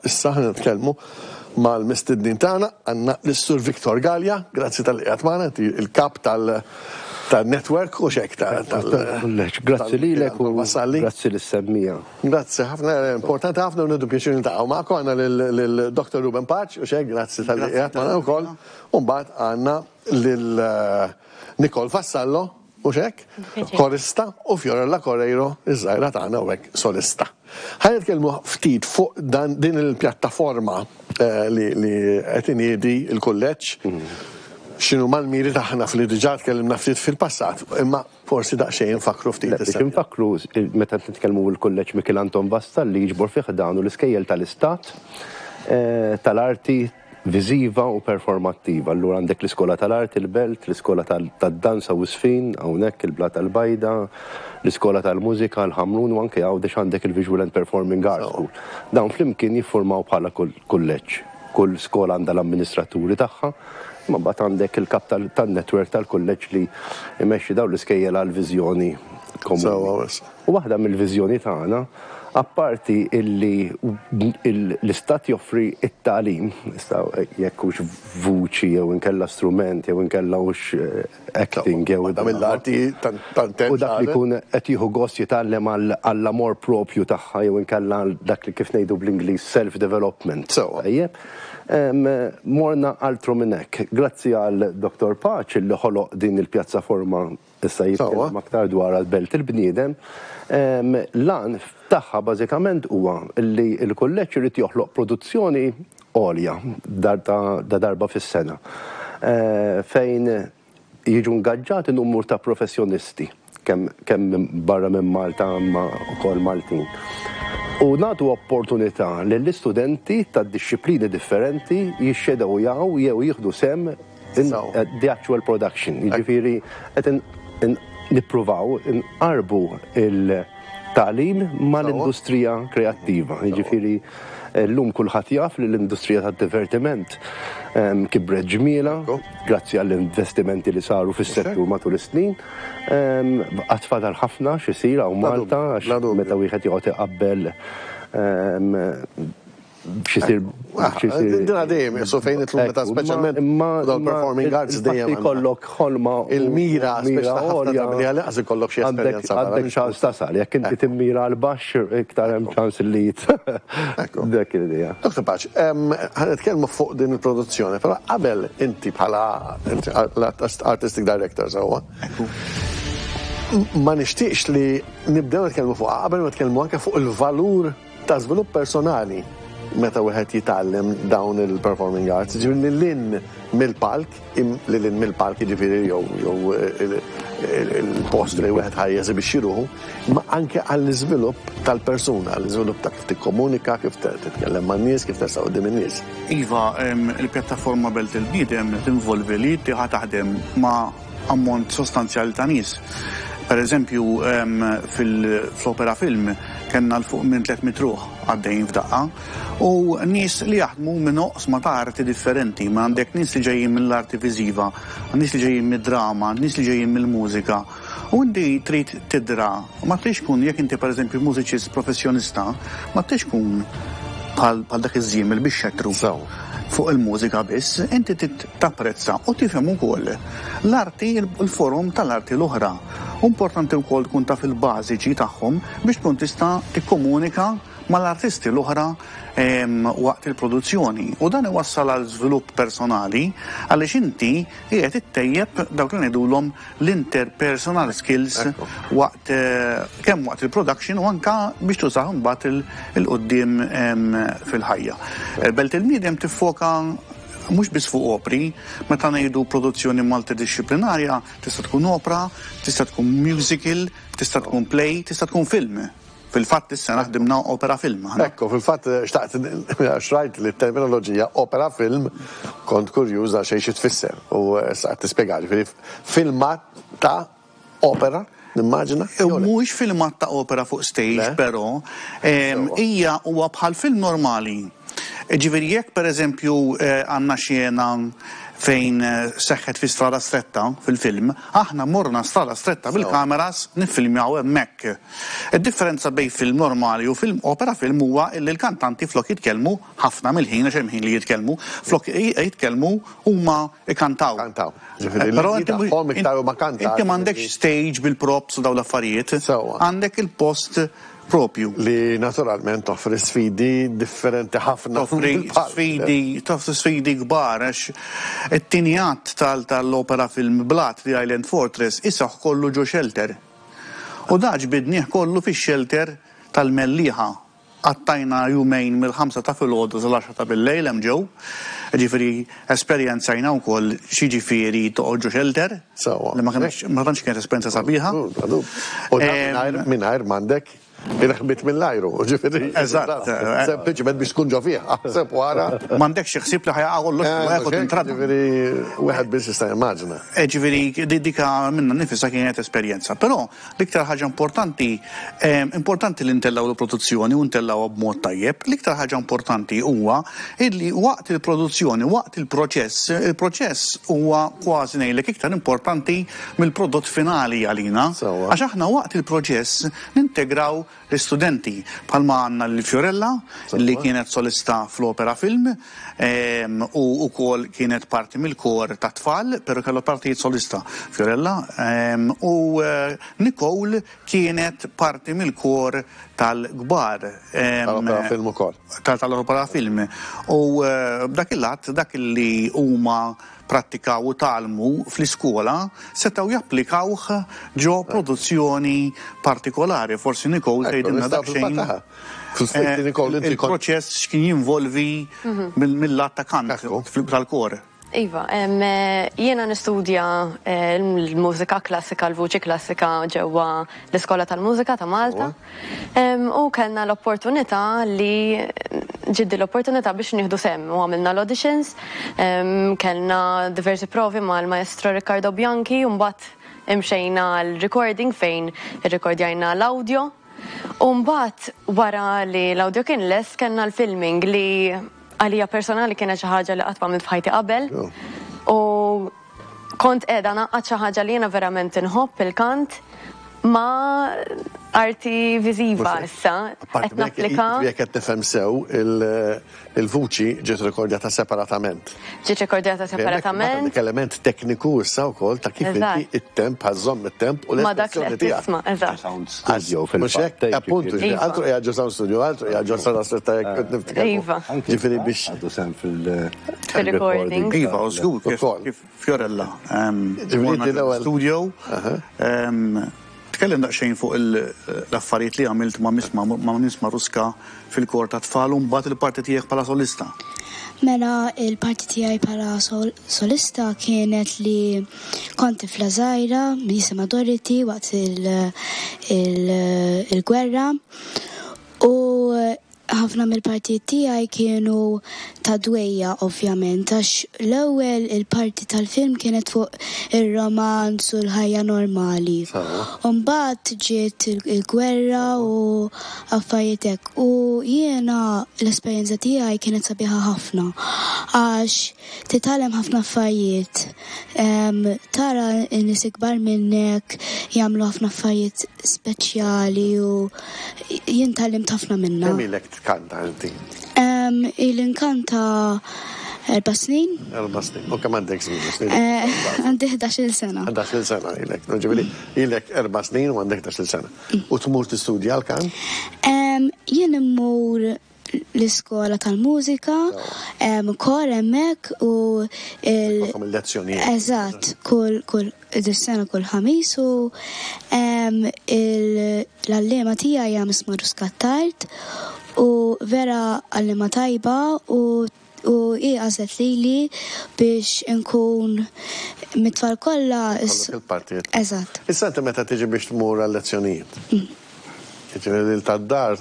Issa ħa nitkellmu mal-mistednin tagħna, għandna lis-Sur Victor Galea, grazzi talli qiegħed magħna, inti il-kap tal-network u xek tal-kulleġġ. Grazzi lilek u grazzi lis-semmija. Grazzi ħafna, importanti ħafna u nieħdu pjaċir niltaqgħu magħkom. Għandna lil Dr. Ruben Paċ u xek, grazzi talli qiegħed magħna wkoll. U mbagħad għandna lil Nicole Vassallo, Mhux hekk? Korista u Fiorella Correiro, iż-żgħira tagħna u hekk solista. Ħa nitkellmu ftit fuq dan din il-pjattaforma eh, li, li qed iniedi l-kulleġġ. X'inhu mal-miri tagħna fli diġà tkellimna ftit fil-passat, imma forsi daqsxejn nfakkru ftit. Biex infakkru meta nitkellmu l-kulleġġ Mikiel Anton Vassalli jiġbor fih dan u l-iskejjel tal-istat eh, tal-arti viżiva u performattiva. Allura għandek l-Iskola tal-Arti, il-Belt, l-Iskola tad-Danza u ż-Żfin, hawnhekk il-Blata l-Bajda, l-Iskola tal-Mużika, l-Ħamrun u anke Għawdex għandek il-Visual and Performing Arts School. Dawn flimkien jiffurmaw bħala kulleġġ. Kull skola għandha l-amministraturi tagħha, imma mbagħad għandek il-kap tan-network tal-kulleġġ li jmexxi dawn l-iskejjel għal viżjoni komuni. U waħda mill-viżjoni tagħna, apparti illi l-istat joffri t-tagħlim, issa jekk hux vuċi jew inkella strument jew inkella hux acting jew. Waħda mill-arti tant U dak li jkun qed jieħu gost jitgħallem għall-amor propju tagħha jew inkella għal dak li kif ngħidu bl-Ingliż self-development. Sewwa. Tajjeb. Morna altru minn hekk. Grazzi għal Dottor Pace li ħoloq din il-pjazzaforma Issa jitkellem aktar dwar għall-Belt il-Bniedem. L-għan tagħha bażikament huwa li l-kulleġġ irid joħloq produzzjoni għolja ta' darba fis-sena fejn jiġu ngaġġati numru ta' professjonisti kemm barra minn Malta imma wkoll Maltin. U nagħtu opportunità lill-istudenti ta' dixxiplini differenti jixxedewjaw jew jieħdu sehem in the actual production. Jiġifieri qed nippruvaw inqarrbu il-tagħlim mal-industrija kreattiva. Jiġifieri llum kulħadd jaf li l-industrija tad-divertiment kibret ġmielha grazzi għall-investimenti li saru fis-settur matul is-snin. Għad fadal ħafna x'isir hawn Malta għax meta wieħed joqgħod iqabbel xisir. Dina dejjem, jessu fejn itlu meta speċjalment dal-performing arts dejjem. Ikollok ħolma. Il-mira, mira għolja. Li għalli ikollok xi esperjenza. Għandek ċans tasal, jekk inti timmira għal baxx, iktar hemm ċans li Dak l-idea. Dr. Paċ, ħa nitkellmu fuq din il-produzzjoni, però qabel inti bħala artistic director sewwa. Ma nixtieqx li nibdew nitkellmu fuq qabel ma nitkellmu anke fuq il-valur ta' żvilupp personali meta wieħed jitgħallem dawn il-performing arts, jiġifieri lil hinn mill-palk, lil hinn mill-palk jiġifieri jew jew il-post li wieħed ħa jeżibixxi ruħu, imma anke għall-iżvilupp tal-persuna, għall-iżvilupp ta' kif tikkomunika, kif titkellem man-nies, kif tersaq quddiem in-nies. Iva, il-pjattaforma Belt il-Bniedem tinvolvi li inti ħa taħdem ma' ammont sostanzjali ta' nies. Per eżempju, fl-opera film kellna 'l fuq minn 300 ruħ għaddejjin f'daqqa u nies li jaħdmu minn oqsma ta' arti differenti. Ma għandek nies li ġejjin mill-arti viżiva, nies li ġejjin mid-drama, nies li ġejjin mill-mużika. U inti trid tidra, ma tridx tkun jekk inti pereżempju mużiċist professjonista, ma tridx tkun bħal dak iż-żiemel bix-xettru fuq il-mużika biss, inti trid tapprezza u tifhem ukoll l-arti, il-forom tal-arti l-oħra. U importanti wkoll tkun taf il-bażiċi tagħhom biex tkun tista' tikkomunika mal-artisti l-oħra waqt il-produzzjoni. U dan iwassal għal żvilupp personali għaliex inti qiegħed ittejjeb dawk li ngħidulhom l-interpersonal skills waqt kemm waqt il-production u anka biex tużah imbagħad 'il quddiem fil-ħajja. Belt il-Bniedem tiffoka mhux biss fuq opri, meta ngħidu produzzjoni multidixxiplinarja tista' tkun opra, tista' tkun musical, tista' tkun play, tista' tkun film. Fil-fatt is-sena ħdimna opera film aħna. Ekku, fil-fatt xtaqt għax rajt li t-terminoloġija opera film kont kurjuż għal xejn xi tfisser u issa qed tispjega, ġifieri filmat ta' opera, nimmaġina? Mhuwiex filmat ta' opera fuq stage però hija huwa bħal film normali. Ġifieri jekk pereżempju għandna xena fejn seħħet fi Strada Stretta fil-film, aħna morna Strada Stretta bil-kameras niffilmjaw hemmhekk. Id-differenza bejn film normali u film opera film huwa illi l-kantanti flok jitkellmu, ħafna mill-ħin għax hemm ħin li jitkellmu, flok jitkellmu huma jkantaw. Kantaw. Ġifieri l-linji tagħhom iktar huma kantati. Inti m'għandekx stage bil-props u dawn l-affarijiet. Sewwa. Għandek il-post propju. Li naturalment toffri sfidi differenti ħafna. Toffri sfidi, toffri sfidi kbar għax it-tieni att tal-opera film Blat, The Island Fortress, iseħħ kollu ġo shelter. U da ġbidnieh kollu fix-shelter tal-Mellieħa. Qattajna jumejn mill-ħamsa ta' filgħodu sal-għaxra ta' billejl hemm ġew. Jiġifieri esperjenzajna wkoll x'jiġifieri toqgħod ġo shelter. Sewwa. Li ma kinitx ma tantx kienet esperjenza sabiħa. U dan mingħajr mingħajr m'għandek il-ħbit mill-ajru, jiġifieri. Eżatt. Sempliċement biex tkun ġo fih, aħseb wara. M'għandekx xi ħsieb li ħa jaqa' kollox fuqek u tintrada. Jiġifieri wieħed biss jista' jimmaġina. Jiġifieri dika minnha nnifisha kienet esperjenza. Però L-iktar ħaġa importanti, importanti li ntellgħu l-produzzjoni u ntellgħuha b'mod tajjeb, l-iktar ħaġa importanti huwa illi waqt il-produzzjoni, waqt il-proċess, il-proċess huwa kważi ngħidlek iktar importanti mill-prodott finali għalina. Għax aħna waqt il-proċess nintegraw l-istudenti bħalma għandna lil Fiorella li kienet solista fl-opera film u wkoll kienet parti mill-kor tat-tfal, però kellha partijiet solista Fiorella u Nicole kienet parti mill-kor tal-kbar. Tal-opera film ukoll. Tal-opera film. U b'dak il-lat dak li huma prattikaw u tgħallmu fl-iskola setgħu japplikawh ġo produzzjoni partikolari. Forsi Nicole tgħidilna daqsxejn il-proċess x'kien jinvolvi mill-lat ta' kant tal-kor. Iva, jiena nistudja l-mużika klassika, l-vuċi klassika ġewwa l-Iskola tal-Mużika ta' Malta. U kellna l-opportunità li ġiet din l-opportunità biex nieħdu sehem u għamilna l-auditions, kellna diversi provi mal-Maestro Riccardo Bianchi u mbagħad imxejna għal recording fejn irrikordjajna l-audio. U mbagħad wara li l-audio kien lest kellna l-filming li għalija personali kienet xi ħaġa li qatt m'għamilt f'ħajti qabel. U Kont qiegħda ngħaqqad xi ħaġa li jiena verament inħobb, il-kant, ma' arti viżiva issa. Qed napplika. Jekk qed nifhem sew, il-vuċi ġiet rekordjata separatament. Ġiet rekordjata separatament. Għandek element tekniku issa wkoll ta' kif inti it-temp ħa żżomm it-temp u l-espressjoni tiegħek. Ma' dak li qed tisma', eżatt. Sound studio fil-fatt. Appuntu, altru qiegħed ġo sound studio, altru qiegħed ġo sala stretta jekk qed niftakar. Iva. Ġifieri biex. Għandu sehem fil- Fil-recording. Iva, u żgur kif Fiorella. Studio. Tkellem daqsxejn fuq l-affarijiet li għamilt ma' Miss Maruska fil-kor tat-tfal u mbagħad il-parti tiegħek bħala solista. Mela il-parti tiegħi bħala solista kienet li kont tifla żgħira jisimha Dorothy waqt il-gwerra u Ħafna mill-partijiet tiegħi kienu ta' dwejjaq ovvjament għax l-ewwel il-parti tal-film kienet fuq ir-romanz u l-ħajja normali. U mbagħad ġiet il-gwerra u affarijiet hekk. U jiena l-esperjenza tiegħi kienet sabiħa ħafna għax titgħallem ħafna affarijiet, tara n-nies ikbar minnek jagħmlu ħafna affarijiet speċjali u Jien tgħallimt ħafna minnha. Kemm ilek tkanta inti? Ili nkanta erba' snin. Erba' snin. U kemm għandek snin? Eh, għandi 11-il sena. 11-il sena ilek. Ġifieri ilek erba' snin u għandek 11-il sena. U tmur tistudja l-kant? Jien immur l-iskola tal-mużika, kor hemmhekk u il- il-lezzjonijiet. Eżatt, kull kull dis-sena kull ħamis u l-għalliema tiegħi hija Miss Maruska Attard u vera għalliema tajba u u hi għażlet lili biex inkun mit-tfal kollha. Ikollok il-partijiet. Eżatt. Issa inti meta tiġi biex tmur għal-lezzjonijiet. Jiġifieri lil tad-dar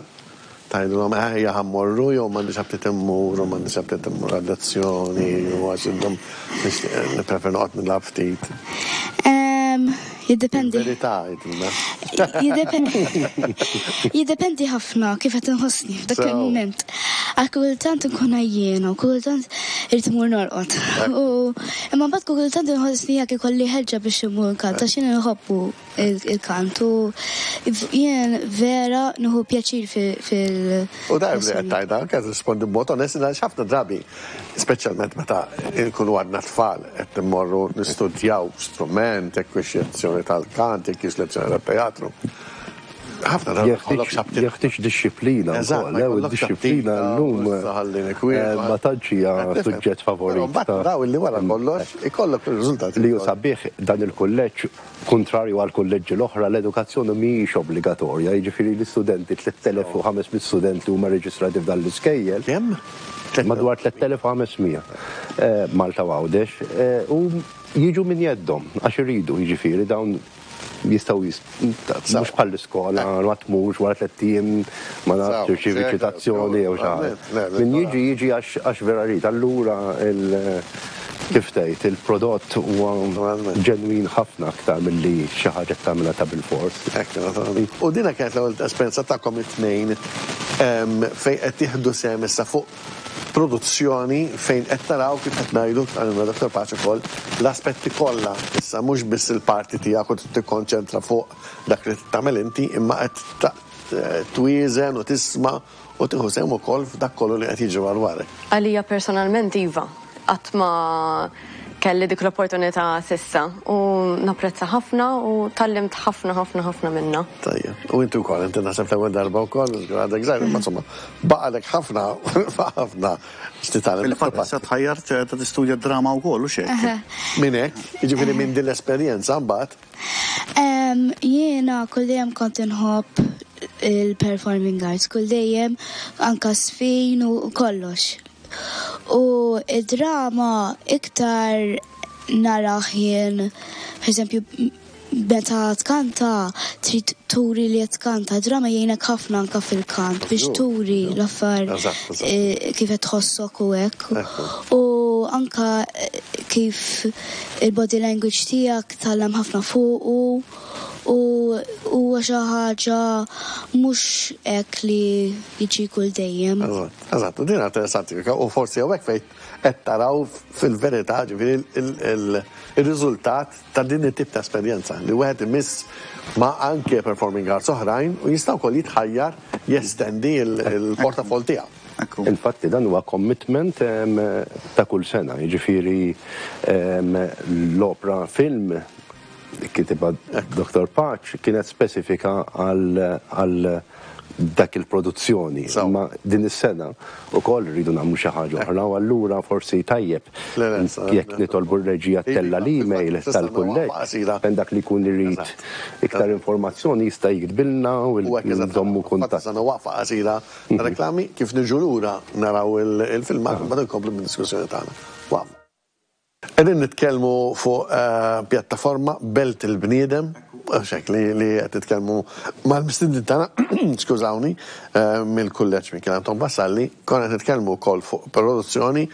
tgħidilhom eh ejja ħa mmorru jew m'għandix aptit immur u m'għandix aptit immur għal-lezzjoni u għax intom nixtieq nippreferi noqgħod nilgħab ftit. Jiddependi. Il-verità għidilna. Jiddependi ħafna kif qed inħossni f'dak il-mument. Għax kultant inkun għajjiena u kultant Irrid immur norqod. U imma mbagħad kultant inħossni hekk ikolli ħeġġa biex immur nkanta għax jien inħobbu il-kant u jien vera nieħu pjaċir fil. U tajjeb li qed tgħidha, anke tirrispondi b'mod onest għaliex ħafna drabi, speċjalment meta nkunu għadna tfal qed immorru nistudjaw strument, jekk hix lezzjoni tal-kant, jekk hix lezzjoni tat-teatru. Ħafna drabi jkollok xabti. Jeħtieġ dixxiplina Eżatt, wkoll, eh, u d-dixxiplina llum ma tantx hija suġġett favorit. Mbagħad naraw illi wara kollox ikollok ir-riżultati. Li hu sabiħ dan il-kulleġġ, kuntrarju għall-kulleġġi l-oħra, l-edukazzjoni mhijiex obbligatorja, jiġifieri l-istudenti 3500 student li huma reġistrati f'dan l-iskejjel. Kemm? Madwar 3500 Malta u Għawdex, u jiġu minn jeddhom għax iridu, jiġifieri dawn jistgħu mhux bħall-iskola ma tmurx wara tlett ijiem ma nafx tirċievi ċitazzjoni jew xi ħaġa. Min jiġi jiġi għax vera jrid. Allura kif tgħid il-prodott huwa ġenwin ħafna aktar milli xi ħaġa qed tagħmilha ta' bilfors. Hekk naturalment. U dina kienet l-ewwel esperjenza tagħkom it-tnejn fejn qed tieħdu sehem issa fuq produzzjoni fejn qed taraw kif qed ngħidu, qalilna Dottor Pace ukoll, l-aspetti kollha issa mhux biss il-parti tiegħek u trid tikkonċentra fuq dak li trid tagħmel inti imma qed twieżen u tisma' u tieħu sehem ukoll f'dak kollu li qed jiġri madwarek. Għalija personalment iva. Qatt ma kelli dik l-opportunità s'issa u napprezza ħafna u tgħallimt ħafna ħafna ħafna minnha. Tajjeb. U inti wkoll, inti naħseb l-ewwel darba wkoll, għadek żgħir, imma insomma, baqgħalek ħafna, ħafna x'titgħallem. Fil-fatt issa tħajjart ta' tistudja d-drama wkoll, hux hekk? Minn hekk, jiġifieri minn din l-esperjenza mbagħad. Jiena kull dejjem kont inħobb il-performing arts, kull dejjem anka żfin u kollox. U id-drama iktar narah jien, per eżempju, meta tkanta trid turi li qed tkanta, drama jgħinek ħafna anka fil-kant biex turi l-affar kif qed tħossok u hekk. U anka kif il-body language tiegħek tgħallem ħafna fuqu u huwa xi ħaġa mhux hekk li jiġi kull dejjem. Eżatt, u din interessanti, u forsi hawnhekk fejn qed taraw fil-verità ġifieri ir-riżultat ta' din it-tip ta' esperjenza li wieħed imiss ma' anke performing arts oħrajn u jista' wkoll jitħajjar jestendi l-portafoll tiegħu. Infatti dan huwa commitment ta' kull sena, jiġifieri l-opra film kitibha Dottor Pace kienet spesifika għal dak il-produzzjoni. Imma din is-sena wkoll irridu nagħmlu xi ħaġa oħra u allura forsi tajjeb jekk nitolbu r-reġija ttella' l-email tal-kulleġġ fejn dak li jkun irid iktar informazzjoni jista' jiktbilna u nżommu kuntatt. Issa waqfa qasira ta' reklami, kif niġu lura naraw il-filmat u mbagħad inkomplu bid-diskussjoni tagħna. Waqfa. Qegħdin nitkellmu fuq pjattaforma Belt il-Bniedem, hux hekk li li qed nitkellmu mal-mistednin tagħna, skużawni, mill-Kulleġġ Mikiel Anton Vassalli, konna qed nitkellmu wkoll fuq produzzjoni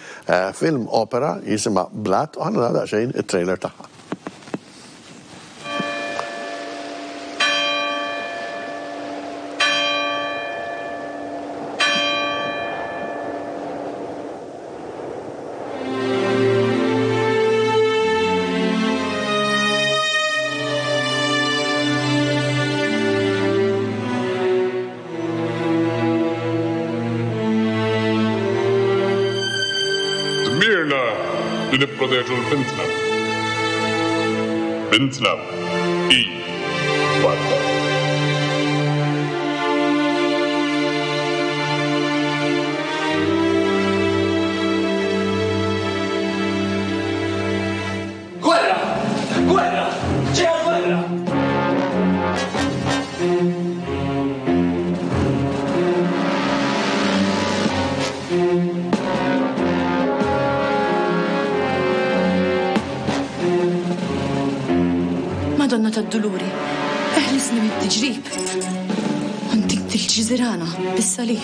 film opera jisimha Blat u ħa naraw daqsxejn it-trailer tagħha. Dmirna li nipproteġu 'l bintna. Bintna hi warda. Gwerra! Gwerra! Ġejja l-gwerra! Madonna tad-Duluri, eħlisni mit-tiġrib. U ntik dil-ġiżirana bis-salib.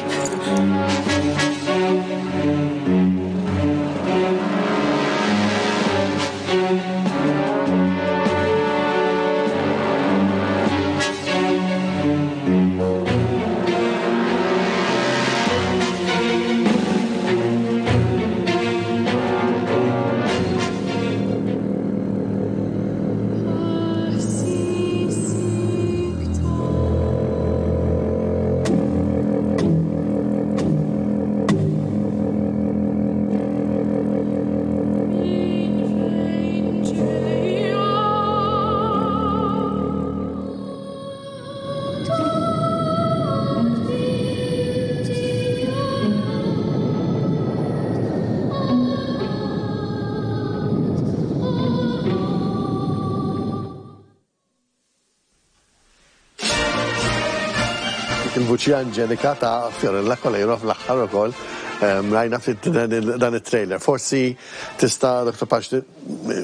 Il-vuċi anġelika ta' Fiorella Coleiro fl-aħħar ukoll rajna ftit dan it-trailer. Forsi tista' Dr. Pace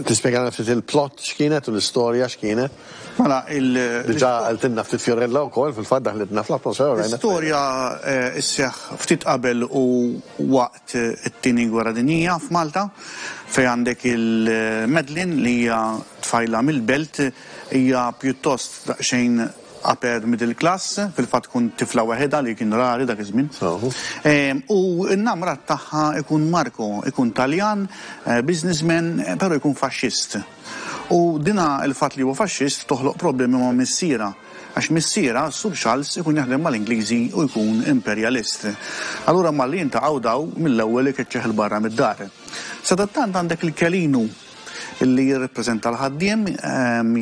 tispjegalna ftit il-plot x'kienet u l-istorja x'kienet? Mela, il. Diġà qaltilna ftit Fiorella wkoll, fil-fatt daħlitna fl-atmosfera u rajna. L-istorja sseħħ ftit qabel u waqt it-Tieni Gwerra Dinjija f'Malta, fejn għandek il-Madeline li hija tfajla mill-belt, hija pjuttost daqsxejn upper middle class, fil-fatt tkun tifla waħedha li kien rari dak iż-żmien. U n-namrat tagħha ikun Marco, ikun Taljan, businessman, però jkun faxxist. U dina il-fatt li huwa faxxist toħloq problemi ma' missierha, għax missierha, s-Sur Charles, ikun jaħdem mal-Ingliżi u jkun imperjalist. Allura malli jintaqgħu daw, mill-ewwel ikeċċih 'il barra mid-dar. Sadattant għandek il-Kelinu li jirrappreżenta l-ħaddiem,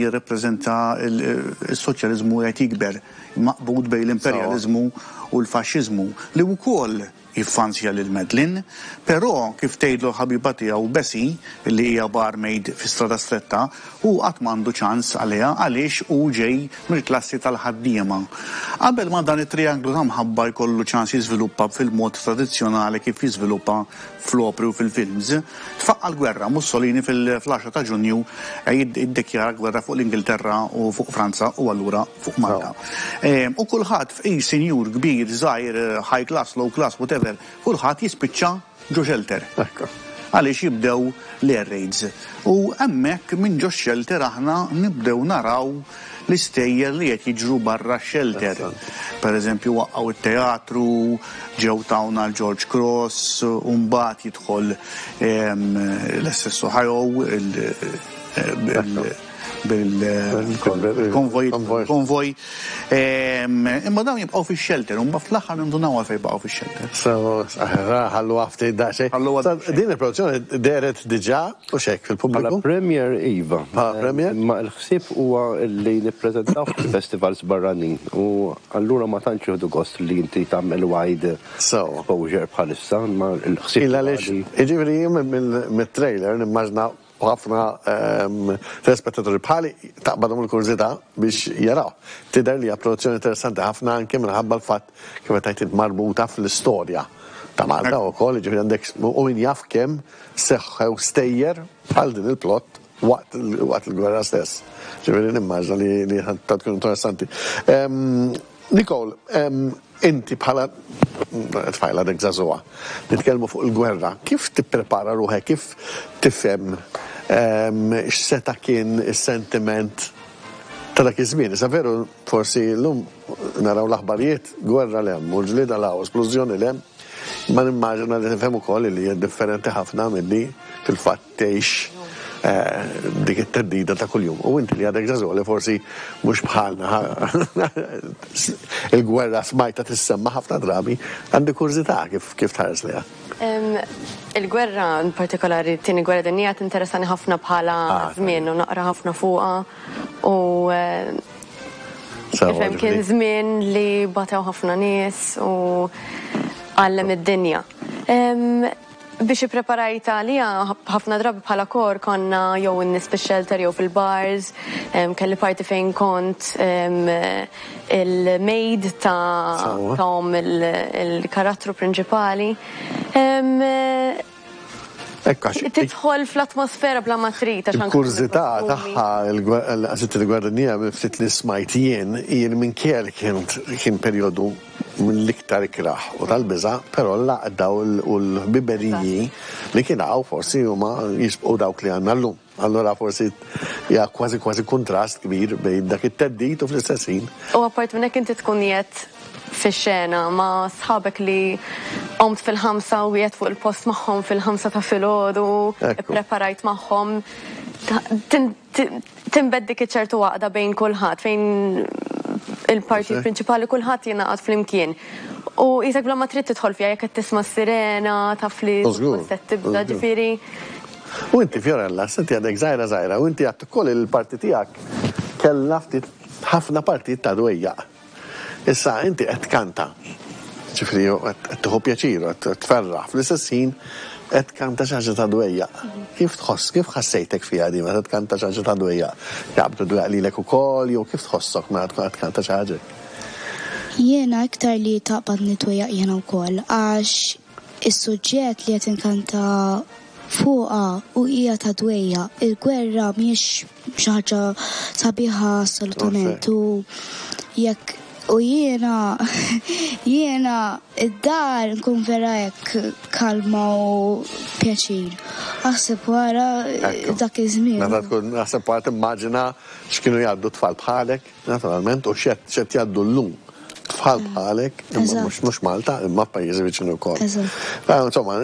jirrappreżenta s-soċjaliżmu qiegħed jikber, maqbud bejn l-imperjaliżmu u l-faxxiżmu, li wkoll jiffansja lil Madeline, però kif tgħidlu l-ħabiba tiegħu Bessie, li hija barmaid fi Strada Stretta, hu qatt m'għandu ċans għaliha għaliex hu ġej mill-klassi tal-ħaddiema. Qabel ma dan it-trianglu ta' mħabba jkollu ċans jiżviluppa fil-mod tradizzjonali kif jiżviluppa fl-opri u fil-films, tfaqqa' l-gwerra, Mussolini fl-għaxra ta' Ġunju jiddikjara gwerra fuq l-Ingilterra u fuq Franza u allura fuq Malta. U kulħadd fqir, sinjur, kbir, żgħir, high class, low class, whatever, kulħadd jispiċċa ġo shelter. Għaliex jibdew l-air raids. U hemmhekk minn ġo shelter aħna nibdew naraw l-istejjer li qed jiġru barra x-shelter. Per eżempju waqqgħu t-teatru, ġew tawna l-George Cross, u mbagħad jidħol l-SS Ohio, bil-konvoj. Konvoj. Imma dawn jibqgħu fix-shelter, u mbagħad fl-aħħar nindunaw għalfejn baqgħu fix-shelter. So, ħallu ftit daqsxejn. Din il-produzzjoni dehret diġà u x'hekk fil-pubbliku? Bħala premier iva. Bħala premier? Imma l-ħsieb huwa li nippreżentaw fil-festivals barranin u allura ma tantx jieħdu gost li inti tagħmel wide exposure bħalissa, imma l-ħsieb. Il għaliex, jiġifieri jien mit-trailer nimmaġna U ħafna telespettaturi bħali taqbadhom il-kurżità biex jaraw. Tidher li hija produzzjoni interessanti ħafna anke minħabba l-fatt kif qed tgħid int marbuta fl-istorja ta' Malta wkoll, jiġifieri għandek u min jaf kemm seħħew stejjer bħal din il-plot waqt waqt il-gwerra stess. Ġifieri nimmaġna li li tkun interessanti. Nicole, inti bħala tfajla għadek żagħżugħa, nitkellmu fuq il-gwerra, kif tipprepara ruħek, kif tifhem x'seta' kien is-sentiment ta' dak iż-żmien? Issa veru forsi llum naraw l-aħbarijiet, gwerra 'l hemm u ġlieda 'l hawn, splużjoni 'l hemm, imma nimmaġina li tifhem ukoll li hija differenti ħafna milli fil-fatt tgħix dik it-theddida ta' kuljum. U inti li għadek żagħżugħ li forsi mhux bħalna il-gwerra smajtha tissemma ħafna drabi, għandi kurżità kif kif tħares lejha. Il-gwerra, in partikolari t-Tieni Gwerra Dinjija tinteressani ħafna bħala żmien u naqra ħafna fuqha u Ifhem kien żmien li batew ħafna nies u għallem id-dinja. Biex ippreparajt għaliha, ħafna drabi bħala kor konna jew in-nies fix-shelter jew fil-bars, kelli parti fejn kont il-maid ta' omm il-karattru prinċipali. Tidħol fl-atmosfera bla ma trid għax anke. Il-kurżità tagħha l-qasir tal-Gwerra Dinjija mill-ftit li smajt jien hi li minkejja li kien perjodu mill-iktar ikrah u tal-biża', però l-għaqda u l-ħbiberiji li kien hawn forsi huma jisbqu dawk li għandna llum. Allura forsi hija kważi kważi kuntrast kbir bejn dak it-theddid u fl-istess ħin. U apparti minn hekk inti tkun qiegħed fix-xena ma' sħabek li qomt fil-ħamsa u qiegħed fuq il-post magħhom fil-ħamsa ta' filgħodu, ippreparajt magħhom. Tinbet dik iċ-ċertu għaqda bejn kulħadd fejn il-partit prinċipali kulħadd jingħaqad flimkien. U qisek bla ma trid tidħol fiha jekk qed tisma' s-sirena, taf li se tibda, ġifieri. U inti Fiorella, inti għadek żgħira żgħira u inti għedt ukoll li l-parti tiegħek kellha ftit ħafna partijiet ta' dwejjaq. Issa inti qed tkanta, ġifieri qed tieħu pjaċir u qed tferraħ, fl-istess ħin qed tkanta xi ħaġa ta' dwejjaq. Kif tħoss, kif ħassejtek fiha din meta tkanta xi ħaġa ta' dwejjaq? Jaqbdu dwejjaq lilek ukoll jew kif tħossok meta tkun qed tkanta xi ħaġa hekk? Jiena iktar li taqbadni dwejjaq jiena wkoll għax is-suġġett li qed inkanta fuqha u hija ta' dwejjaq. Il-gwerra mhijiex xi ħaġa sabiħa assolutament u jekk u jiena jiena id-dar nkun vera hekk kalma u pjaċir. Aħseb wara dak iż-żmien. Meta tkun aħseb wara timmaġina x'kienu jgħaddu tfal bħalek. Naturalment, u x'qed x'qed jgħaddu llum tfal bħalek, imma mhux mhux Malta, imma f'pajjiżi viċin ukoll. Insomma,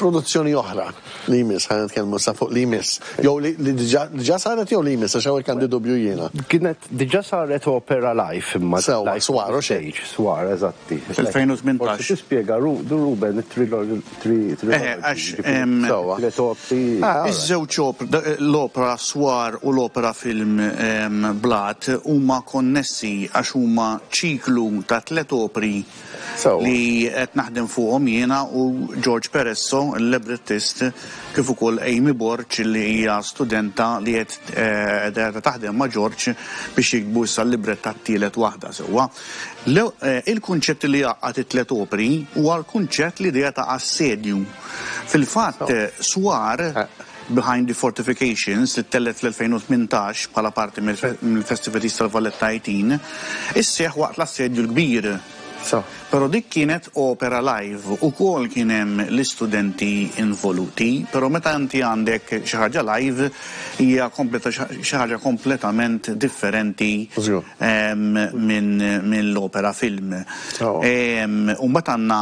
produzzjoni oħra li jmiss, ħa nitkellmu sa fuq li jmiss. Jew li diġà saret jew li jmiss, għax hawnhekk għandi dubju jiena. Kienet diġà saret opera live imma. Sewwa, Swar u xejn. Swar, eżatti. Fl-2018. Forsi tispjega Ruben it-trilogy. Eħe, għax iż-żewġ l-opera Swar u l-opera film Blat huma konnessi għax huma ċiklu ta' tliet opri li qed naħdem fuqhom jiena u George Peresso, il-librettist, kif ukoll Amy Borg li hija studenta li qed qiegħda taħdem ma' George biex jiktbu issa l-librett tat-tielet waħda sewwa. Il-kunċett li jgħaqqad it-tliet opri huwa l-kunċett l-idea ta' assedju. Fil-fatt, Swar, Behind the Fortifications, li ttellgħet fl-2018 bħala parti mill-festivities tal-Valletta 18, isseħħ waqt l-Assedju l-Kbir. Però dik kienet opera live, ukoll kien hemm l-istudenti involuti, però meta inti għandek xi ħaġa live hija xi ħaġa kompletament differenti mill-opera film. U mbagħad għandna,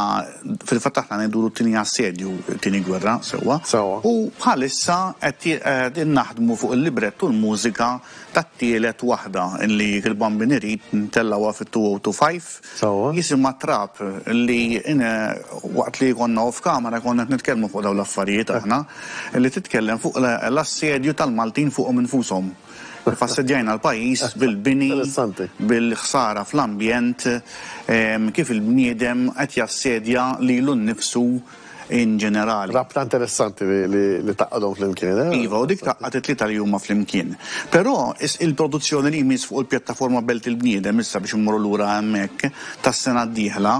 fil-fatt aħna ngħidulu t-tieni assedju, it-tieni gwerra, sewwa. U bħalissa qed naħdmu fuq il-librett u l-mużika tat-tielet waħda li jekk il-Bambin irid ntellgħuha fit-2025. Jisimha Trab li waqt li konna off camera konna qed nitkellmu fuq dawn l-affarijiet aħna li titkellem fuq l-assedju tal-Maltin fuqhom infushom. Kif assedjajna l-pajjiż bil-bini, bil-ħsara fl-ambjent, kif il-bniedem qed jassedja lilu nnifsu in ġenerali. Rabta interessanti li tgħaqqadhom flimkien, eh? Iva, u dik tgħaqqad it-tlieta li huma flimkien. Però il-produzzjoni li jmiss fuq il-pjattaforma Belt il-Bniedem, issa biex immorru lura hemmhekk, tas-sena d-dieħla,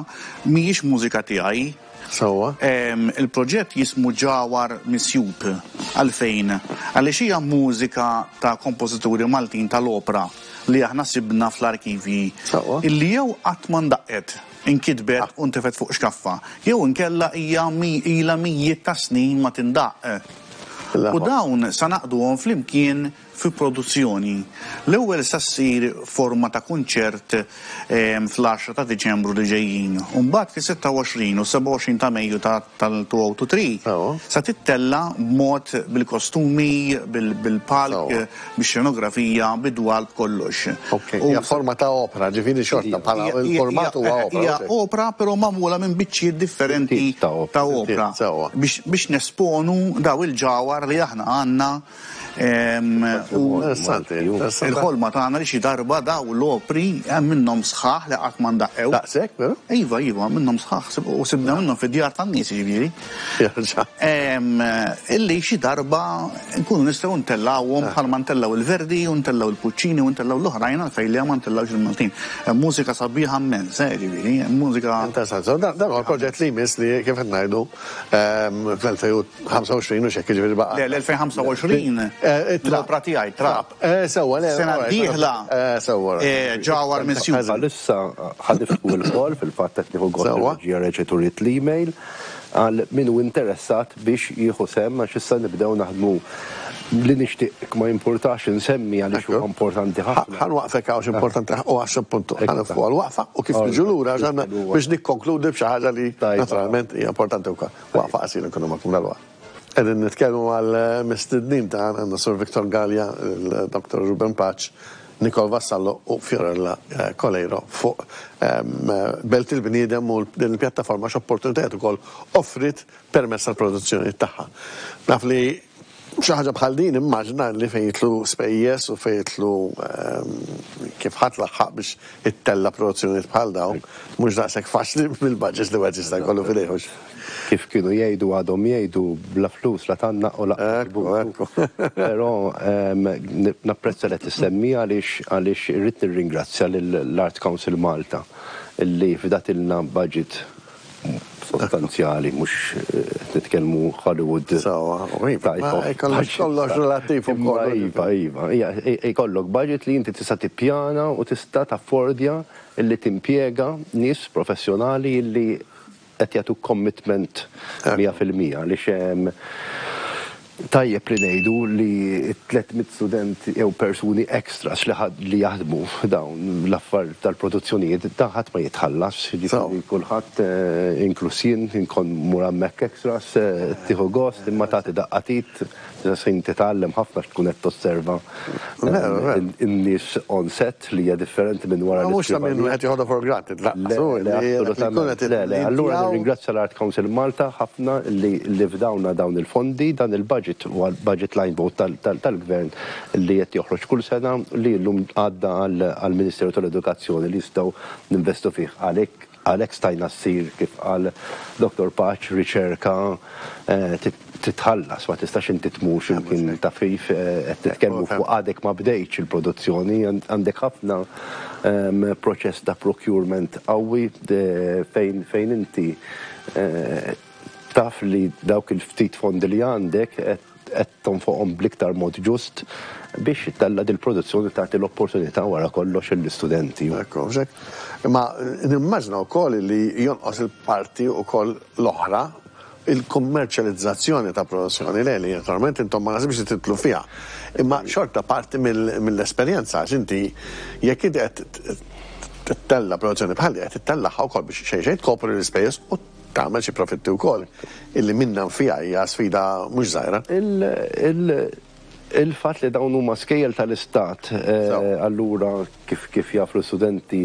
mhijiex mużika tiegħi. Sewwa. Il-proġett jismu Ġawhar Misjub. Għalfejn? Għaliex hija mużika ta' kompożituri Maltin tal-opra li aħna sibna fl-arkivji. Sewwa. Illi jew qatt ma ndaqqet. Inkitbet u ntefgħet fuq xkaffa. Jew inkella hija ilha mijiet ta' snin ma tindaqq. U dawn sa ngħaqqduhom flimkien fi produzzjoni. L-ewwel sa ssir forma ta' kunċert fl-għaxra ta' Diċembru li ġejjin. U mbagħad fis-26 u s-27 ta' Mejju tal-2023 sa tittella' b'mod bil-kostumi, bil-palk, bix-xenografija, bid-dwal, b'kollox. Ok, hija forma ta' opra, ġifieri xorta bħala il-format huwa opra. Hija opra però magħmula minn biċċiet differenti ta' opra. Biex nesponu daw il-ġawhar li aħna għandna u il-ħolma tagħna li xi darba daw l-opri hemm minnhom sħaħ li qatt ma ndaqqew. Daqshekk, veru? Iva, iva, minnhom sħaħ u sibna minnhom fid-djar tan-nies jiġifieri. Illi xi darba nkunu nistgħu ntellgħuhom bħalma ntellgħu il-Verdi u ntellgħu il-Puccini u ntellgħu l-oħrajn għalfejn le ma ntellgħux il-Maltin. Hemm mużika sabiħa mmens, eh, jiġifieri, hemm mużika. Interessanti. So dan huwa proġett li jmiss li kif qed ngħidu fl-2025 u x'hekk jiġifieri baqa'. Le, l-2025 l-opra tiegħi, Trab. Sewwa, le. Sena d-dieħla. Sewwa. Ġawhar Misjub. Bħalissa ħa niftħu l-call, fil-fatt qed nieħu gost ir-reġija reġgħet uriet l-email. Għal min hu interessat biex jieħu sehem għax issa nibdew naħdmu li nixtieq ma jimpurtax insemmi għaliex huwa importanti ħafna. Ħa nwaqqfek hawn għax importanti u għax appuntu ħa nifqu għal waqfa u kif niġu lura għax għandna biex nikkonkludi b'xi ħaġa li naturalment hija importanti wkoll. Waqfa qasira nkunu magħkom dalwaqt. Qegħdin nitkellmu mal-mistednin tagħna għandna Sur Victor Galea, il-Dr. Ruben Pace, Nicole Vassallo u Fiorella Coleiro fuq Belt il-Bniedem u din il-pjattaforma x'opportunitajiet ukoll offriet permezz tal-produzzjonijiet tagħha. Naf li xi ħaġa bħal din immaġna li fejn jidħlu spejjeż u fejn jidħlu kif ħadd laħħaq biex ittella' produzzjonijiet bħal dawn mhux daqshekk faċli bil-budgets li wieħed jista' jkollu f'idejh. Kif kienu jgħidu għadhom jgħidu bla flus la tgħannaq u lanqas tbut. Però napprezza li qed issemmiha għaliex għaliex irrid nirringrazzja lill-Arts Council Malta li fdatilna budget sostanzjali mhux qed nitkellmu Hollywood Sewwa, iva, kollox kollox relattiv ukoll. Iva, iva, ikollok budget li inti tista' tippjana u tista' taffordja li timpjega nies professjonali li qed jagħtuk commitment 100% għaliex tajjeb li ngħidu li 300 student jew persuni extras li li jaħdmu dawn l-affar tal-produzzjonijiet dan ħadd ma jitħallas, jiġifieri kulħadd inkluż jien inkun mmur hemmhekk extras tieħu gost imma tagħti daqqa t'id Fl-istess ħin titgħallem ħafna għax tkun qed tosserva n-nies on set li hija differenti minn wara l-iskrivanija. Mhux ta' min wieħed joħodha for granted lanqas. Le, le, assolutament. Le, le. Allura nirringrazzja l-Art Council Malta ħafna li fdawna dawn il-fondi. Dan il-budget huwa budget line vote tal-Gvern li qed joħroġ kull sena li llum għadda għall-Ministeru tal-Edukazzjoni li jistgħu ninvestu fih. Għalhekk Għalhekk stajna ssir, kif qal Dottor Pace, riċerka titħallas, ma tistax inti tmur xi mkien taf kif, qed nitkellmu fuq għadek ma bdejtx il-produzzjoni, għandek ħafna proċess ta' procurement qawwi fejn fejn inti taf li dawk il-ftit fondi li għandek qed qed tonfoqhom bl-iktar mod ġust biex ittella' dil-produzzjoni tagħti l-opportunità wara kollox lill-istudenti. Ekku, mhux hekk? Imma nimmaġina wkoll li jonqos il-parti wkoll l-oħra, il-kummerċjalizzazzjoni ta' produzzjoni, le li naturalment intom ma naħsibx li tidħlu fiha. Imma xorta parti mill-esperjenza għax inti jekk inti qed ttella' produzzjoni bħal di qed ittellagħha wkoll biex xejn xejn tkopri l-ispejjeż u tagħmel xi profitti wkoll, illi minnha nfiha hija sfida mhux żgħira. Il-fatt li dawn huma skejjel tal-istat, allura kif kif jafu l-istudenti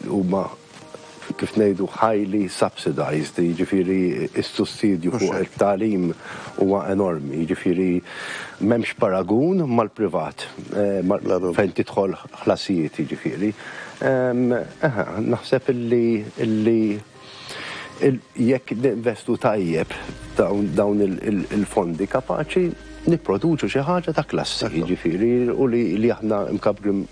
huma kif ngħidu highly subsidized, jiġifieri s-sussidju fuq it-tagħlim huwa enormi, jiġifieri m'hemmx paragun mal-privat fejn tidħol ħlasijiet jiġifieri. Naħseb illi illi Jekk ninvestu tajjeb dawn il-fondi kapaċi nipproduċu xi ħaġa ta' klassi, jiġifieri u li aħna mkabbrin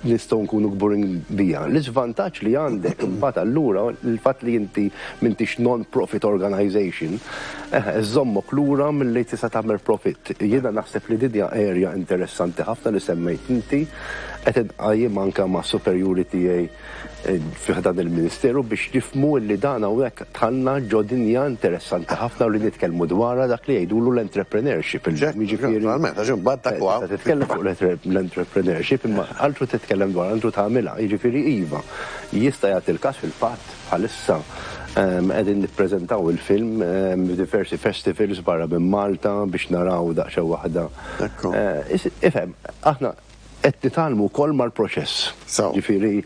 nistgħu nkunu kburin biha. L-iżvantaġġ li għandek imbagħad allura l-fatt li inti m'intix non-profit organization, iżommok lura milli tista' tagħmel profitt. Jiena naħseb li din hija area interessanti ħafna li semmejt inti, qed inqajjimha anke mas-superjuri tiegħi fi ħdan il-Ministeru biex nifhmu li dan hawnhekk dħalna ġo dinja interessanti ħafna u li nitkellmu dwarha dak li jgħidulu l-entrepreneurship illum. Jiġifieri. Naturalment, għax imbagħad dak huwa. Tista' titkellem fuq l-entrepreneurship imma altru titkellem dwarha, altru tagħmilha. Jiġifieri iva, jista' jagħti l-każ fil-fatt bħalissa qegħdin nippreżentaw il-film f'diversi festivals barra minn Malta biex naraw daqsxejn waħda. Ifhem, aħna Qed nitgħallmu wkoll mal-proċess. Jiġifieri,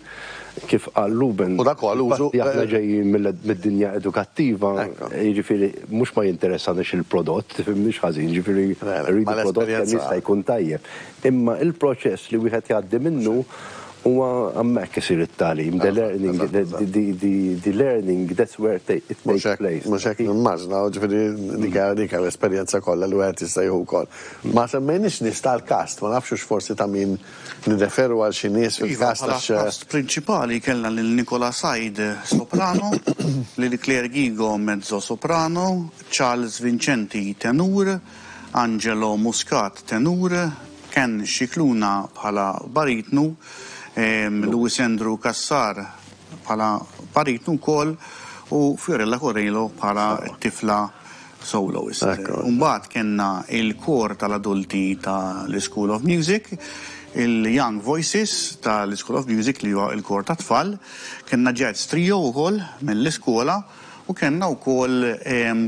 kif qal Ruben, il-fatt li aħna ġejjin mid-dinja edukattiva, jiġifieri mhux ma jinteressaniex il-prodott, tifhimnix ħażin, jiġifieri rridu prodott kemm jista' jkun tajjeb. Imma il-proċess li wieħed jgħaddi minnu huwa hemmhekk isir it-tagħlim, the learning, the learning, that's where it takes place. Mhux hekk nimmaġina, jiġifieri dik l-esperjenza kollha li wieħed jista' jieħu wkoll. Ma semmejniex nies tal-kast, ma nafx hux forsi ta' min nirreferu għal xi nies fil-kast għax. Iva, bħala kast prinċipali kellna lil Nicola Said, soprano, lil Claire Ghigo, mezzo soprano, Charles Vincenti, tenur, Angelo Muscat, tenur, Ken Scicluna bħala baritnu, Louis Andrew Cassar bħala baritnu wkoll u Fiorella Coelho bħala t-tifla soloist. Imbagħad kellna il-kor tal-adulti tal-School of Music, il-Young Voices tal-School of Music li huwa l-kor tat-tfal, kellna jazz trio wkoll mill-iskola u kellna wkoll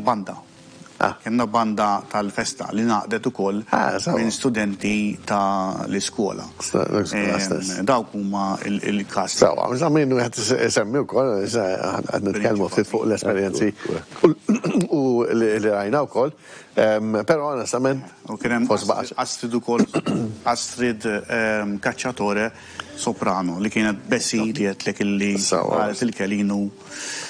banda. Kellna banda tal-festa li ngħaqdet ukoll minn studenti tal-iskola. Dawk huma l-cast. Sewwa, ta' min wieħed isemmi wkoll, qed nitkellmu ftit fuq l-esperjenzi u li rajna wkoll, però onestament. U kien hemm Astrid ukoll, Astrid Cacciatore soprano li kienet Bessie li għedtlek illi qalet il-Kelinu.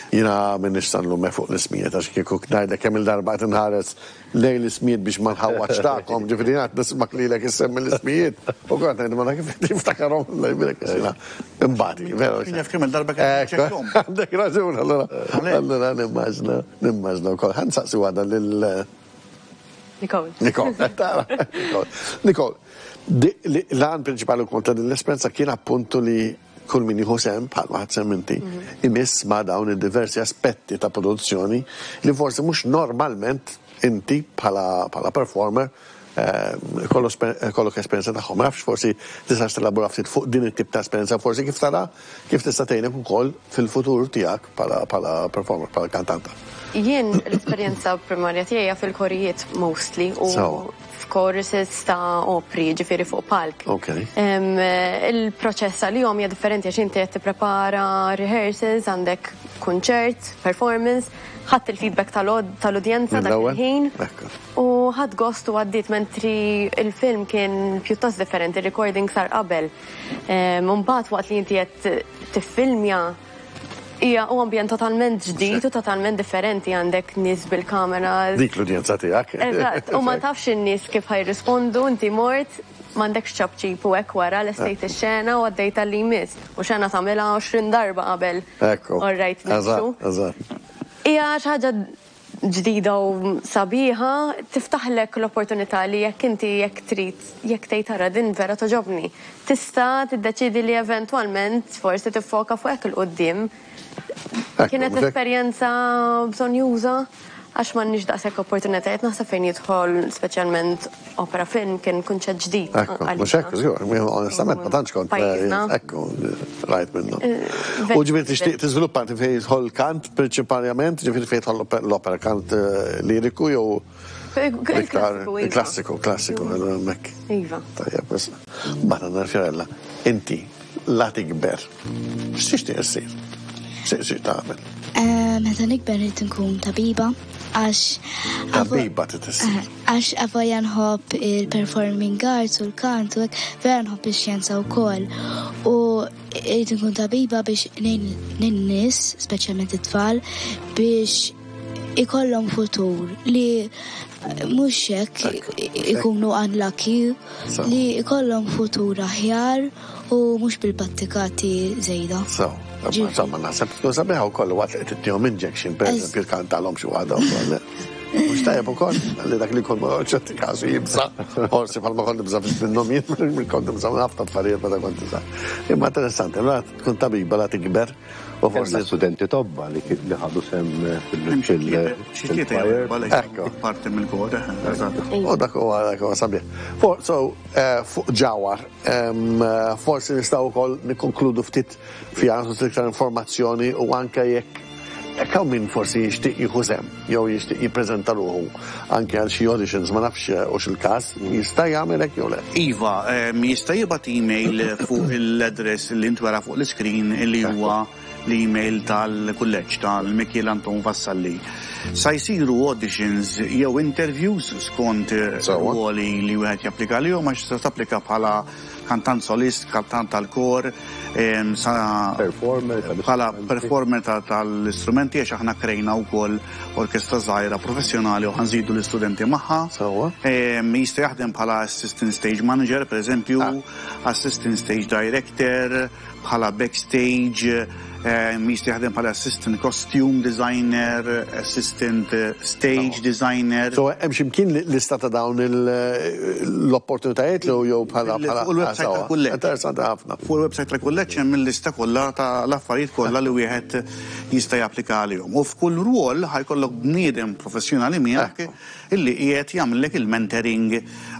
Jiena m'iniex sa nlumek fuq l-ismijiet għax kieku ngħidlek kemm-il darba qed inħares lejn l-ismijiet biex ma nħawwadx tagħkom, ġifieri jiena qed nismak lilek issemmi l-ismijiet u kont ngħid ma kif qed jiftakarhom Alla jbierek għax jiena imbagħad veru. Jien naf kemm-il darba kien niċċekkjahom. Għandek raġun allura allura nimmaġna nimmaġna wkoll. Ħa nsaqsi waħda lil Nicole. Nicole, tara. Nicole, l-għan prinċipali wkoll ta' din l-esperjenza kien appuntu li kull min jieħu sehem, bħalma ħadt sehem inti, imiss ma' dawn id-diversi aspetti ta' produzzjoni li forsi mhux normalment inti bħala performer ikollok esperjenza tagħhom. Ma nafx forsi tistax telabora ftit fuq din it-tip ta' esperjenza, forsi kif tara kif tista' tgħinek ukoll fil-futur tiegħek bħala performer, bħala kantanta. Jien l-esperjenza primarja tiegħi hija fil-korijiet mostly u f'choruses ta' opri, ġifieri fuq palk. Il-proċess għalihom hija differenti għax inti qed tipprepara rehearsals, għandek kunċert, performance, ħadt il-feedback tal-udjenza dak il-ħin u ħadt gost u għaddiet mentri il-film kien pjuttost differenti, il-recording sar qabel. Mbagħad waqt li inti qed tiffilmja Hija u ambjent totalment ġdid u totalment differenti għandek nies bil-kameras. Dik l-udjenza tiegħek. Eżatt, u ma tafx in-nies kif ħa jirrispondu, inti mort, m'għandekx ċapċip u hekk wara lestejt ix-xena u għaddejt għal li jmiss. U xena tagħmilha 20 darba qabel. Ekku. All right, nimxu. Eżatt, eżatt. Hija xi ħaġa ġdida u sabiħa, tiftaħlek l-opportunità li jekk inti jekk trid, jekk tgħid ara din vera togħġobni, tista' tiddeċiedi li eventwalment forsi tiffoka fuq hekk 'il quddiem. Kienet esperjenza bżonnjuża għax m'għandniex daqshekk opportunitajiet naħseb fejn jidħol speċjalment opera film kien kunċett ġdid. Ekku, mhux hekk, żgur, onestament ma tantx kont ekku rajt minnu. U ġifieri tixtieq tiżviluppa inti fejn jidħol kant prinċipalment, ġifieri fejn jidħol l-opera kant liriku jew iktar klassiku, klassiku, hemmhekk. Iva. Tajjeb, mbagħad għandna Fiorella, inti la tikber, x'tixtieq issir? X'tixtieq tagħmel? Meta nikber rrid inkun tabiba għax Tabiba trid issir. Għax avolja nħobb il-performing arts u l-kant u hekk, vera nħobb ix-xjenza wkoll. U rrid inkun tabiba biex ngħin lin-nies, speċjalment it-tfal, biex ikollhom futur li mhux hekk ikunu unlucky, li ikollhom futur aħjar u mhux bil-battikati żejda. So, insomma, naħseb tkun sabiħa wkoll waqt li qed ittihom injection, pereżempju, tkantalhom xi waħda wkoll. Mhux tajjeb ukoll li dak li jkun ma ċerti każi jibża', forsi bħalma kont nibża' minnhom jien, kont nibża' minn ħafna affarijiet meta kont iżgħar. Imma interessanti, allura tkun tabiba la tikber u forsi. Studenti tobba li ħadu sehem fil-choir. Ekku. Parti mill-kor, eżatt. U dak huwa dak huwa sabiħ. So, fuq ġawhar, Forsi nistgħu wkoll nikkonkludu ftit fiha nagħtu iktar informazzjoni u anke jekk jekk hawn min forsi jixtieq jieħu sehem jew jixtieq jippreżenta ruħu anke għal xi auditions ma nafx hux il-każ, jista' jagħmel hekk jew le? Iva, jista' jibgħat email fuq l-address li ntwera fuq l-iskrin li huwa l-email tal-kulleġġ tal-Mikiel Anton Vassalli. Sa jsiru auditions jew interviews skont ruoli li wieħed japplika għalihom għax tista' tapplika bħala kantant solist, kantant tal-kor, sa bħala performer tal-istrumenti għax aħna krejna wkoll orkestra żgħira professjonali u ħa nżidu l-istudenti magħha. Jista' jaħdem bħala assistant stage manager, pereżempju, assistant stage director, bħala backstage, jista' jaħdem bħala assistant costume designer, assistant stage designer. So hemm xi mkien lista ta' dawn l-opportunitajiet jew bħala bħala Fuq il-website tal-kulleġġ. Interessanti ħafna. Fuq il-website tal-kulleġġ hemm il-lista kollha ta' l-affarijiet kollha li wieħed jista' japplika għalihom. U f'kull rwol ħa jkollok bniedem professjonali miegħek Illi qiegħed jagħmillek il-mentoring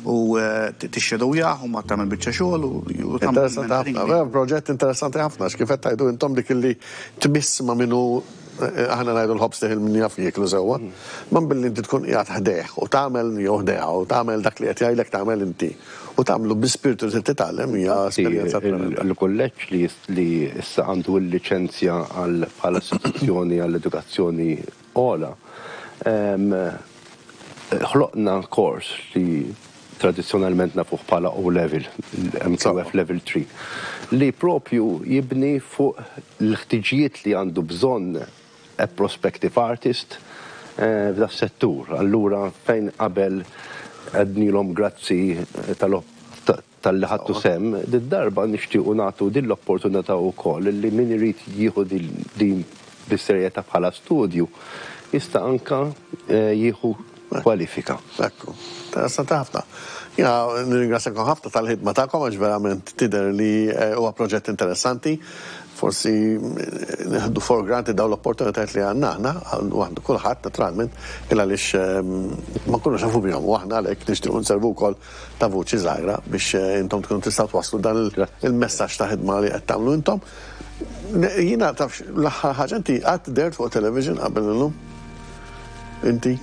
u tixxedowjah u mbagħad tagħmel biċċa xogħol u tagħmel. Interessanti ħafna, vera proġett interessanti ħafna għax kif qed tgħidu intom dik illi tmiss ma' min hu aħna ngħidu l-ħobż teħil min jaf jieklu sewwa. Imma billi inti tkun qiegħed ħdejh u tagħmel jew ħdejha u tagħmel dak li qed jgħidlek tagħmel inti u tagħmlu bi spirtu li trid titgħallem hija esperjenza tremenda. Il-kulleġġ li issa għandu l-liċenzja għal bħala istituzzjoni għall-edukazzjoni Ogħla. Ħloqna kors li tradizzjonalment nafuh bħala O Level, MQF Level 3, li propju jibni fuq l-ħtiġijiet li għandu bżonn a prospective artist f'da settur. Allura fejn qabel għednilhom grazzi talli ħadtu sehem, did-darba nixtiequ nagħtu din l-opportunità wkoll li min irid jieħu din bis-serjetà bħala studju jista' anke jieħu kwalifika. Ekku. Interessanti ħafna. Jiena nirringrazzjakom ħafna tal-ħidma tagħkom għax verament tidher li huwa proġett interessanti. Forsi nieħdu for granted dawn l-opportunitajiet li għandna aħna, waħdu kulħadd naturalment, il għaliex ma nkunux nafu bihom u aħna għalhekk nixtiequ nservu wkoll ta' vuċi żgħira biex intom tkunu tistgħu twasslu dan il-messaġġ ta' ħidma li qed tagħmlu intom. Jiena tafx l-aħħar ħaġa inti qatt dehrt fuq television qabel illum? Inti?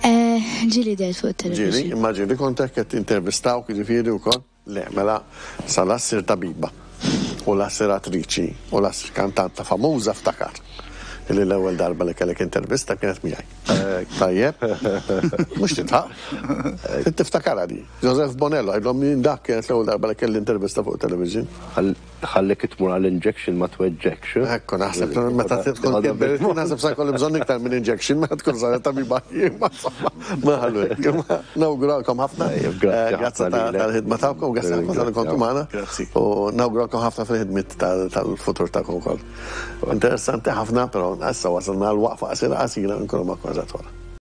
Ġieli dehrt fuq television. Ġieli, imma ġieli kont hekk qed intervistawk jiġifieri wkoll? Le, mela sa la ssir tabiba u la ssir attriċi u la ssir kantanta famuża ftakar illi l-ewwel darba li kellek intervista kienet miegħi. Tajjeb? Mhux tidħaq. Trid tiftakarha di. Joseph Bonello, għidlhom min dak kienet l-ewwel darba li kelli intervista fuq television. Ħallek tmur għal injection ma tweġġekx. Ekku, naħseb meta tkun kibert, naħseb sa jkolli bżonn iktar minn injection meta tkun saret tabiba. Ma ħallu hekk. Nawguralkom ħafna. Grazzi tal-ħidma tagħkom, grazzi ħafna tal kontu magħna. U nawguralkom ħafna fil-ħidmiet tal-futur tagħkom ukoll. Interessanti ħafna, però issa wasalna għal waqfa qasira qasira nkunu magħkom eżatt wara.